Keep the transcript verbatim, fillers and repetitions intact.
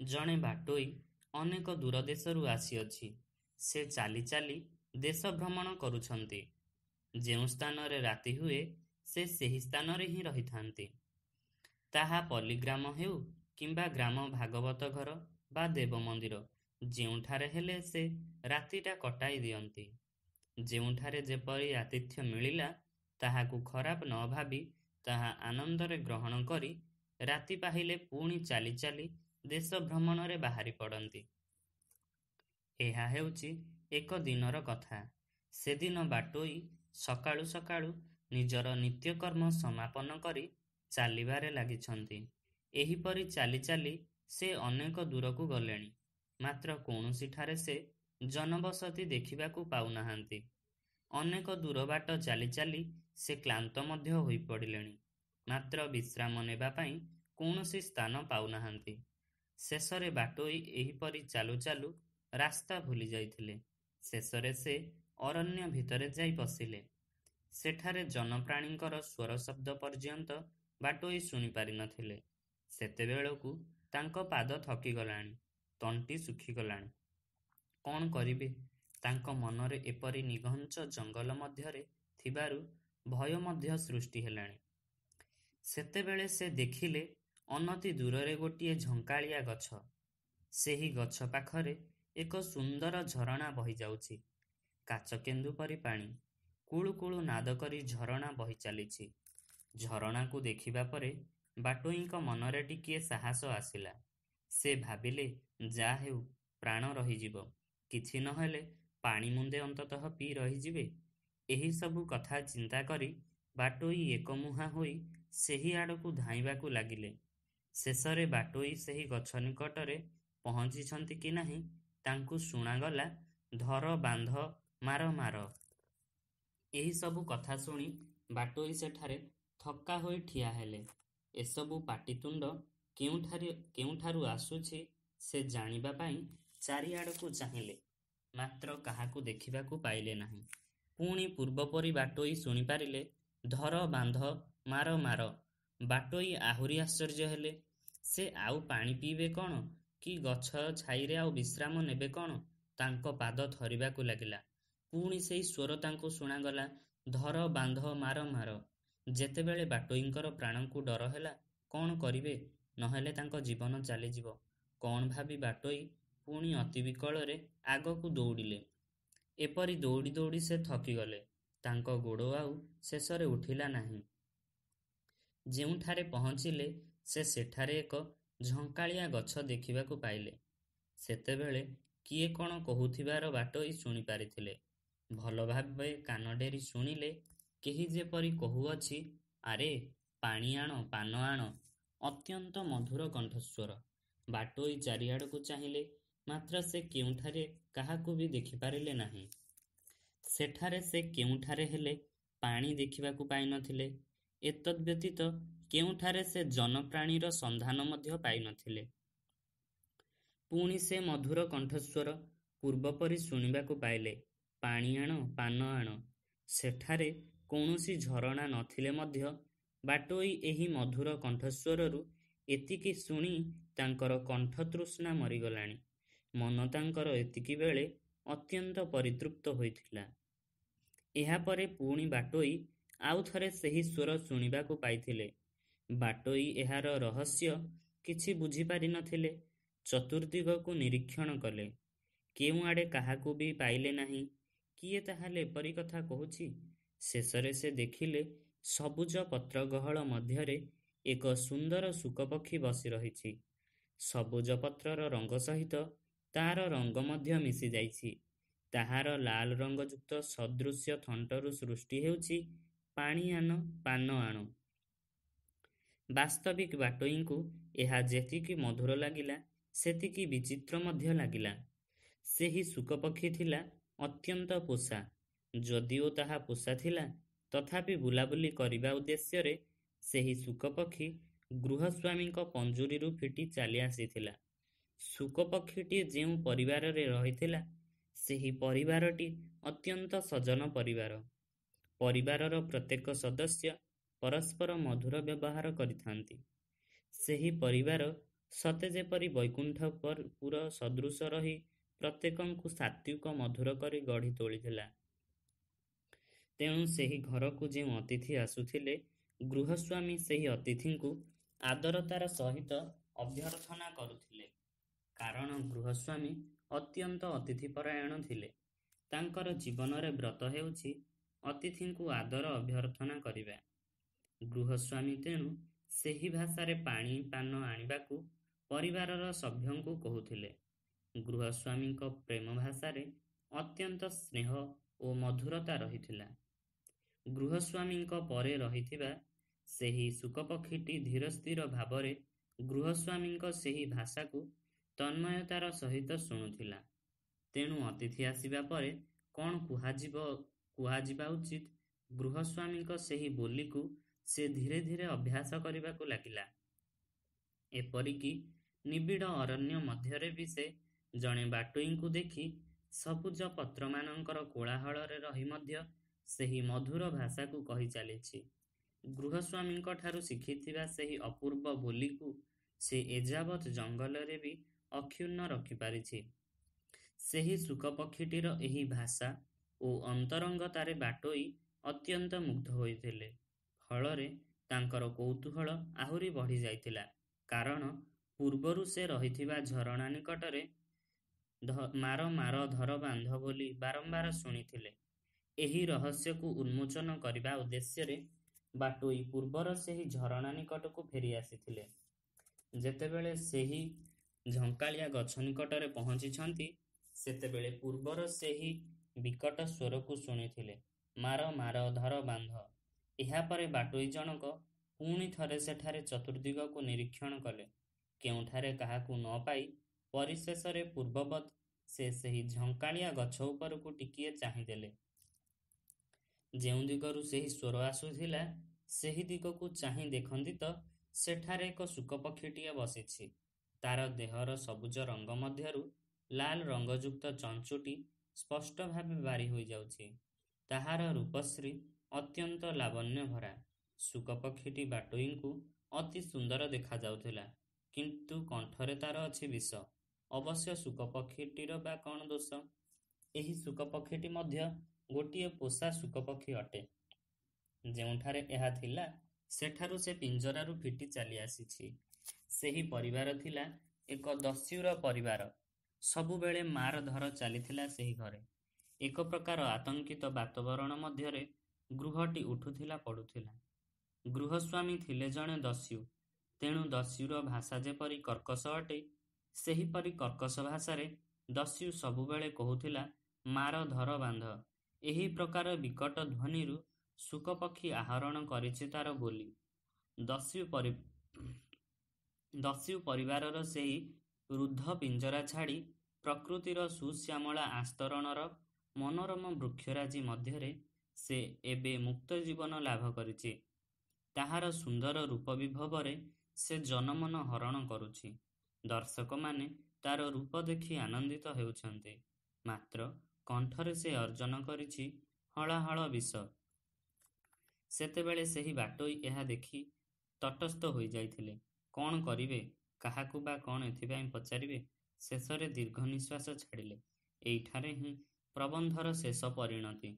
ଜଣେ ବାଟୋଇ ଅନେକ ଦୂର ଦେଶରୁ ଆସିଅଛି। ସେ ଚାଲି ଚାଲି ଦେଶ ଭ୍ରମଣ କରୁଛନ୍ତି। ଯେଉଁ ସ୍ଥାନରେ ରାତି ହୁଏ, ସେ ସେହି ସ୍ଥାନରେ ହିଁ ରହିଥାନ୍ତି। ତାହା ପଲ୍ଲୀଗ୍ରାମ ହେଉ କିମ୍ବା ଗ୍ରାମ ଭାଗବତ ଘର ବା ଦେବ ମନ୍ଦିର, ଯେଉଁଠାରେ ହେଲେ ସେ ରାତିଟା କଟାଇ ଦିଅନ୍ତି। ଯେଉଁଠାରେ ଯେପରି ଆତିଥ୍ୟ ମିଳିଲା, ତାହାକୁ ଖରାପ ନ ଭାବି ତାହା ଆନନ୍ଦରେ ଗ୍ରହଣ କରି ରାତି ପାହିଲେ ପୁଣି ଚାଲି ଚାଲି ଦେଶ ଭ୍ରମଣରେ ବାହାରି ପଡ଼ନ୍ତି। ଏହା ହେଉଛି ଏକ ଦିନର କଥା। ସେଦିନ ବାଟୋଇ ସକାଳୁ ସକାଳୁ ନିଜର ନିତ୍ୟକର୍ମ ସମାପନ କରି ଚାଲିବାରେ ଲାଗିଛନ୍ତି। ଏହିପରି ଚାଲି ଚାଲି ସେ ଅନେକ ଦୂରକୁ ଗଲେଣି, ମାତ୍ର କୌଣସିଠାରେ ସେ ଜନବସତି ଦେଖିବାକୁ ପାଉନାହାନ୍ତି। ଅନେକ ଦୂର ବାଟ ଚାଲି ଚାଲି ସେ କ୍ଳାନ୍ତ ମଧ୍ୟ ହୋଇପଡ଼ିଲେଣି, ମାତ୍ର ବିଶ୍ରାମ ନେବା ପାଇଁ କୌଣସି ସ୍ଥାନ ପାଉନାହାନ୍ତି। ଶେଷରେ ବାଟୋଇ ଏହିପରି ଚାଲୁ ଚାଲୁ ରାସ୍ତା ଭୁଲି ଯାଇଥିଲେ। ଶେଷରେ ସେ ଅରଣ୍ୟ ଭିତରେ ଯାଇ ପଶିଲେ। ସେଠାରେ ଜନପ୍ରାଣୀଙ୍କର ସ୍ୱର ଶବ୍ଦ ପର୍ଯ୍ୟନ୍ତ ବାଟୋଇ ଶୁଣିପାରି ନଥିଲେ। ସେତେବେଳକୁ ତାଙ୍କ ପାଦ ଥକିଗଲାଣି, ତଣ୍ଟି ଶୁଖିଗଲାଣି। କ'ଣ କରିବେ? ତାଙ୍କ ମନରେ ଏପରି ନିଘଞ୍ଚ ଜଙ୍ଗଲ ମଧ୍ୟରେ ଥିବାରୁ ଭୟ ମଧ୍ୟ ସୃଷ୍ଟି ହେଲାଣି। ସେତେବେଳେ ସେ ଦେଖିଲେ ଅନତି ଦୂରରେ ଗୋଟିଏ ଝଙ୍କାଳିଆ ଗଛ। ସେହି ଗଛ ପାଖରେ ଏକ ସୁନ୍ଦର ଝରଣା ବହିଯାଉଛି। କାଚକେନ୍ଦୁ ପରି ପାଣି। କୁଳୁ କୁଳୁ ନାଦ କରି ଝରଣା ବହି ଚାଲିଛି। ଝରଣାକୁ ଦେଖିବା ପରେ ବାଟୋଇଙ୍କ ମନରେ ଟିକିଏ ସାହସ ଆସିଲା। ସେ ଭାବିଲେ, ଯା ହେଉ, ପ୍ରାଣ ରହିଯିବ। କିଛି ନହେଲେ ପାଣି ମୁନ୍ଦେ ଅନ୍ତତଃ ପିଇ ରହିଯିବେ। ଏହିସବୁ କଥା ଚିନ୍ତା କରି ବାଟୋଇ ଏକମୁହାଁ ହୋଇ ସେହି ଆଡ଼କୁ ଧାଇଁବାକୁ ଲାଗିଲେ। ଶେଷରେ ବାଟୋଇ ସେହି ଗଛ ନିକଟରେ ପହଞ୍ଚିଛନ୍ତି କି ନାହିଁ, ତାଙ୍କୁ ଶୁଣାଗଲା, ଧର ବାନ୍ଧ ମାର ମାର। ଏହିସବୁ କଥା ଶୁଣି ବାଟୋଇ ସେଠାରେ ଥକ୍କା ହୋଇ ଠିଆ ହେଲେ। ଏସବୁ ପାଟିତୁଣ୍ଡ କେଉଁଠାରି କେଉଁଠାରୁ ଆସୁଛି ସେ ଜାଣିବା ପାଇଁ ଚାରିଆଡ଼କୁ ଚାହିଁଲେ, ମାତ୍ର କାହାକୁ ଦେଖିବାକୁ ପାଇଲେ ନାହିଁ। ପୁଣି ପୂର୍ବପରି ବାଟୋଇ ଶୁଣିପାରିଲେ, ଧର ବାନ୍ଧ ମାର ମାର। ବାଟୋଇ ଆହୁରି ଆଶ୍ଚର୍ଯ୍ୟ ହେଲେ। ସେ ଆଉ ପାଣି ପିଇବେ କ'ଣ କି ଗଛ ଛାଇରେ ଆଉ ବିଶ୍ରାମ ନେବେ କ'ଣ? ତାଙ୍କ ପାଦ ଥରିବାକୁ ଲାଗିଲା। ପୁଣି ସେଇ ସ୍ୱର ତାଙ୍କୁ ଶୁଣାଗଲା, ଧର ବାନ୍ଧ ମାର ମାର। ଯେତେବେଳେ ବାଟୋଇଙ୍କର ପ୍ରାଣକୁ ଡର ହେଲା, କ'ଣ କରିବେ, ନହେଲେ ତାଙ୍କ ଜୀବନ ଚାଲିଯିବ। କ'ଣ ଭାବି ବାଟୋଇ ପୁଣି ଅତି ବିକଳରେ ଆଗକୁ ଦୌଡ଼ିଲେ। ଏପରି ଦୌଡ଼ି ଦୌଡ଼ି ସେ ଥକିଗଲେ। ତାଙ୍କ ଗୋଡ଼ ଆଉ ଶେଷରେ ଉଠିଲା ନାହିଁ। ଯେଉଁଠାରେ ପହଞ୍ଚିଲେ ସେ ସେଠାରେ ଏକ ଝଙ୍କାଳିଆ ଗଛ ଦେଖିବାକୁ ପାଇଲେ। ସେତେବେଳେ କିଏ କ'ଣ କହୁଥିବାର ବାଟୋଇ ଶୁଣିପାରିଥିଲେ। ଭଲ ଭାବେ କାନ ଡେରି ଶୁଣିଲେ, କେହି ଯେପରି କହୁଅଛି, ଆରେ ପାଣି ଆଣ, ପାନ ଆଣ। ଅତ୍ୟନ୍ତ ମଧୁର କଣ୍ଠସ୍ୱର। ବାଟୋଇ ଚାରିଆଡ଼କୁ ଚାହିଁଲେ, ମାତ୍ର ସେ କେଉଁଠାରେ କାହାକୁ ବି ଦେଖିପାରିଲେ ନାହିଁ। ସେଠାରେ ସେ କେଉଁଠାରେ ହେଲେ ପାଣି ଦେଖିବାକୁ ପାଇନଥିଲେ। ଏତଦ୍ବ୍ୟତୀତ କେଉଁଠାରେ ସେ ଜନପ୍ରାଣୀର ସନ୍ଧାନ ମଧ୍ୟ ପାଇନଥିଲେ। ପୁଣି ସେ ମଧୁର କଣ୍ଠସ୍ୱର ପୂର୍ବପରି ଶୁଣିବାକୁ ପାଇଲେ, ପାଣି ଆଣ, ପାନ ଆଣ। ସେଠାରେ କୌଣସି ଝରଣା ନଥିଲେ ମଧ୍ୟ ବାଟୋଇ ଏହି ମଧୁର କଣ୍ଠସ୍ୱରରୁ ଏତିକି ଶୁଣି ତାଙ୍କର କଣ୍ଠତୃଷ୍ଣା ମରିଗଲାଣି। ମନ ତାଙ୍କର ଏତିକିବେଳେ ଅତ୍ୟନ୍ତ ପରିତୃପ୍ତ ହୋଇଥିଲା। ଏହାପରେ ପୁଣି ବାଟୋଇ ଆଉ ଥରେ ସେହି ସ୍ୱର ଶୁଣିବାକୁ ପାଇଥିଲେ। ବାଟୋଇ ଏହାର ରହସ୍ୟ କିଛି ବୁଝିପାରି ନଥିଲେ। ଚତୁର୍ଦ୍ଦିଗକୁ ନିରୀକ୍ଷଣ କଲେ। କେଉଁଆଡ଼େ କାହାକୁ ବି ପାଇଲେ ନାହିଁ। କିଏ ତାହେଲେ ଏପରି କଥା କହୁଛି? ଶେଷରେ ସେ ଦେଖିଲେ ସବୁଜ ପତ୍ରଗହଳ ମଧ୍ୟରେ ଏକ ସୁନ୍ଦର ଶୁକପକ୍ଷୀ ବସି ରହିଛି। ସବୁଜ ପତ୍ରର ରଙ୍ଗ ସହିତ ତାର ରଙ୍ଗ ମଧ୍ୟ ମିଶିଯାଇଛି। ତାହାର ଲାଲ ରଙ୍ଗଯୁକ୍ତ ସଦୃଶ୍ୟ ଥଣ୍ଟରୁ ସୃଷ୍ଟି ହେଉଛି, ପାଣି ଆଣ, ପାନ ଆଣ। ବାସ୍ତବିକ ବାଟୋଇଙ୍କୁ ଏହା ଯେତିକି ମଧୁର ଲାଗିଲା, ସେତିକି ବିଚିତ୍ର ମଧ୍ୟ ଲାଗିଲା। ସେହି ଶୁକପକ୍ଷୀ ଥିଲା ଅତ୍ୟନ୍ତ ପୋଷା। ଯଦିଓ ତାହା ପୋଷା ଥିଲା, ତଥାପି ବୁଲାବୁଲି କରିବା ଉଦ୍ଦେଶ୍ୟରେ ସେହି ଶୁକପକ୍ଷୀ ଗୃହସ୍ୱାମୀଙ୍କ ପଞ୍ଜୁରୀରୁ ଫିଟି ଚାଲି ଆସିଥିଲା। ଶୁକପକ୍ଷୀଟି ଯେଉଁ ପରିବାରରେ ରହିଥିଲା, ସେହି ପରିବାରଟି ଅତ୍ୟନ୍ତ ସଜ୍ଜନ ପରିବାର। ପରିବାରର ପ୍ରତ୍ୟେକ ସଦସ୍ୟ ପରସ୍ପର ମଧୁର ବ୍ୟବହାର କରିଥାନ୍ତି। ସେହି ପରିବାର ସତେ ଯେପରି ବୈକୁଣ୍ଠପୁର ସଦୃଶ ରହି ପ୍ରତ୍ୟେକଙ୍କୁ ସାତ୍ତ୍ୱିକ ମଧୁର କରି ଗଢ଼ି ତୋଳିଥିଲା। ତେଣୁ ସେହି ଘରକୁ ଯେଉଁ ଅତିଥି ଆସୁଥିଲେ, ଗୃହସ୍ୱାମୀ ସେହି ଅତିଥିଙ୍କୁ ଆଦରତାର ସହିତ ଅଭ୍ୟର୍ଥନା କରୁଥିଲେ। କାରଣ ଗୃହସ୍ୱାମୀ ଅତ୍ୟନ୍ତ ଅତିଥିପରାୟଣ ଥିଲେ। ତାଙ୍କର ଜୀବନରେ ବ୍ରତ ହେଉଛି ଅତିଥିଙ୍କୁ ଆଦର ଅଭ୍ୟର୍ଥନା କରିବା। ଗୃହସ୍ୱାମୀ ତେଣୁ ସେହି ଭାଷାରେ ପାଣି ପାନ ଆଣିବାକୁ ପରିବାରର ସଭ୍ୟଙ୍କୁ କହୁଥିଲେ। ଗୃହସ୍ୱାମୀଙ୍କ ପ୍ରେମ ଭାଷାରେ ଅତ୍ୟନ୍ତ ସ୍ନେହ ଓ ମଧୁରତା ରହିଥିଲା। ଗୃହସ୍ୱାମୀଙ୍କ ପରେ ରହିଥିବା ସେହି ଶୁକପକ୍ଷୀଟି ଧୀରସ୍ଥିର ଭାବରେ ଗୃହସ୍ୱାମୀଙ୍କ ସେହି ଭାଷାକୁ ତନ୍ମୟତାର ସହିତ ଶୁଣୁଥିଲା। ତେଣୁ ଅତିଥି ଆସିବା ପରେ କ'ଣ କୁହାଯିବ କୁହାଯିବା ଉଚିତ, ଗୃହସ୍ୱାମୀଙ୍କ ସେହି ବୋଲିକୁ ସେ ଧୀରେ ଧୀରେ ଅଭ୍ୟାସ କରିବାକୁ ଲାଗିଲା। ଏପରିକି ନିବିଡ଼ ଅରଣ୍ୟ ମଧ୍ୟରେ ବି ସେ ଜଣେ ବାଟୋଇଙ୍କୁ ଦେଖି ସବୁଜ ପତ୍ରମାନଙ୍କର କୋଳାହଳରେ ରହି ମଧ୍ୟ ସେହି ମଧୁର ଭାଷାକୁ କହି ଚାଲିଛି। ଗୃହସ୍ୱାମୀଙ୍କଠାରୁ ଶିଖିଥିବା ସେହି ଅପୂର୍ବ ବୋଲିକୁ ସେ ଏଯାବତ୍ ଜଙ୍ଗଲରେ ବି ଅକ୍ଷୁଣ୍ଣ ରଖିପାରିଛି। ସେହି ଶୁକପକ୍ଷୀଟିର ଏହି ଭାଷା ଓ ଅନ୍ତରଙ୍ଗତାରେ ବାଟୋଇ ଅତ୍ୟନ୍ତ ମୁଗ୍ଧ ହୋଇଥିଲେ। ଫଳରେ ତାଙ୍କର କୌତୂହଳ ଆହୁରି ବଢ଼ିଯାଇଥିଲା। କାରଣ ପୂର୍ବରୁ ସେ ରହିଥିବା ଝରଣା ନିକଟରେ ମାର ମାର ଧର ବାନ୍ଧ ବୋଲି ବାରମ୍ବାର ଶୁଣିଥିଲେ। ଏହି ରହସ୍ୟକୁ ଉନ୍ମୋଚନ କରିବା ଉଦ୍ଦେଶ୍ୟରେ ବାଟୋଇ ପୂର୍ବର ସେହି ଝରଣା ନିକଟକୁ ଫେରି ଆସିଥିଲେ। ଯେତେବେଳେ ସେହି ଝଙ୍କାଳିଆ ଗଛ ନିକଟରେ ପହଞ୍ଚିଛନ୍ତି, ସେତେବେଳେ ପୂର୍ବର ସେହି ବିକଟ ସ୍ୱରକୁ ଶୁଣିଥିଲେ, ମାର ମାର ଧର ବାନ୍ଧ। ଏହାପରେ ବାଟୋଇ ଜଣକ ପୁଣି ଥରେ ସେଠାରେ ଚତୁର୍ଦ୍ଦିଗକୁ ନିରୀକ୍ଷଣ କଲେ। କେଉଁଠାରେ କାହାକୁ ନ ପାଇ ପରିଶେଷରେ ପୂର୍ବବତ୍ ସେ ସେହି ଝଙ୍କାଳିଆ ଗଛ ଉପରକୁ ଟିକିଏ ଚାହିଁଦେଲେ। ଯେଉଁ ଦିଗରୁ ସେହି ସ୍ୱର ଆସୁଥିଲା, ସେହି ଦିଗକୁ ଚାହିଁ ଦେଖନ୍ତି ତ ସେଠାରେ ଏକ ଶୁକପକ୍ଷୀଟିଏ ବସିଛି। ତାର ଦେହର ସବୁଜ ରଙ୍ଗ ମଧ୍ୟରୁ ଲାଲ ରଙ୍ଗଯୁକ୍ତ ଚଞ୍ଚୁଟି ସ୍ପଷ୍ଟ ଭାବେ ବାରି ହୋଇଯାଉଛି। ତାହାର ରୂପଶ୍ରୀ ଅତ୍ୟନ୍ତ ଲାବଣ୍ୟଭରା। ଶୁକପକ୍ଷୀଟି ବାଟୋଇଙ୍କୁ ଅତି ସୁନ୍ଦର ଦେଖାଯାଉଥିଲା, କିନ୍ତୁ କଣ୍ଠରେ ତାର ଅଛି ବିଷ। ଅବଶ୍ୟ ଶୁକପକ୍ଷୀଟିର ବା କ'ଣ ଦୋଷ? ଏହି ଶୁକପକ୍ଷୀଟି ମଧ୍ୟ ଗୋଟିଏ ପୋଷା ଶୁକପକ୍ଷୀ ଅଟେ। ଯେଉଁଠାରେ ଏହା ଥିଲା, ସେଠାରୁ ସେ ପିଞ୍ଜରାରୁ ଫିଟି ଚାଲିଆସିଛି। ସେହି ପରିବାର ଥିଲା ଏକ ଦସ୍ୟୁର ପରିବାର। ସବୁବେଳେ ମାରଧର ଚାଲିଥିଲା ସେହି ଘରେ। ଏକ ପ୍ରକାର ଆତଙ୍କିତ ବାତାବରଣ ମଧ୍ୟରେ ଗୃହଟି ଉଠୁଥିଲା ପଡୁଥିଲା। ଗୃହସ୍ୱାମୀ ଥିଲେ ଜଣେ ଦସ୍ୟୁ। ତେଣୁ ଦସ୍ୟୁର ଭାଷା ଯେପରି କର୍କଶ ଅଟେ, ସେହିପରି କର୍କଶ ଭାଷାରେ ଦସ୍ୟୁ ସବୁବେଳେ କହୁଥିଲା ମାର ଧର ବାନ୍ଧ। ଏହି ପ୍ରକାର ବିକଟ ଧ୍ୱନିରୁ ଶୁକପକ୍ଷୀ ଆହରଣ କରିଛି ତାର ବୋଲି। ଦସ୍ୟୁ ପରି ଦସ୍ୟୁ ପରିବାରର ସେହି ରୁଦ୍ଧ ପିଞ୍ଜରା ଛାଡ଼ି ପ୍ରକୃତିର ସୁଶ୍ୟାମଳା ଆସ୍ତରଣର ମନୋରମ ବୃକ୍ଷରାଜି ମଧ୍ୟରେ ସେ ଏବେ ମୁକ୍ତ ଜୀବନ ଲାଭ କରିଛି। ତାହାର ସୁନ୍ଦର ରୂପ ବିଭବରେ ସେ ଜନମନ ହରଣ କରୁଛି। ଦର୍ଶକମାନେ ତାର ରୂପ ଦେଖି ଆନନ୍ଦିତ ହେଉଛନ୍ତି। ମାତ୍ର କଣ୍ଠରେ ସେ ଅର୍ଜନ କରିଛି ହଳାହଳ ବିଷ। ସେତେବେଳେ ସେହି ବାଟୋଇ ଏହା ଦେଖି ତଟସ୍ଥ ହୋଇଯାଇଥିଲେ। କ'ଣ କରିବେ, କାହାକୁ ବା କ'ଣ ଏଥିପାଇଁ ପଚାରିବେ? ଶେଷରେ ଦୀର୍ଘ ନିଶ୍ୱାସ ଛାଡ଼ିଲେ। ଏଇଠାରେ ହିଁ ପ୍ରବନ୍ଧର ଶେଷ ପରିଣତି।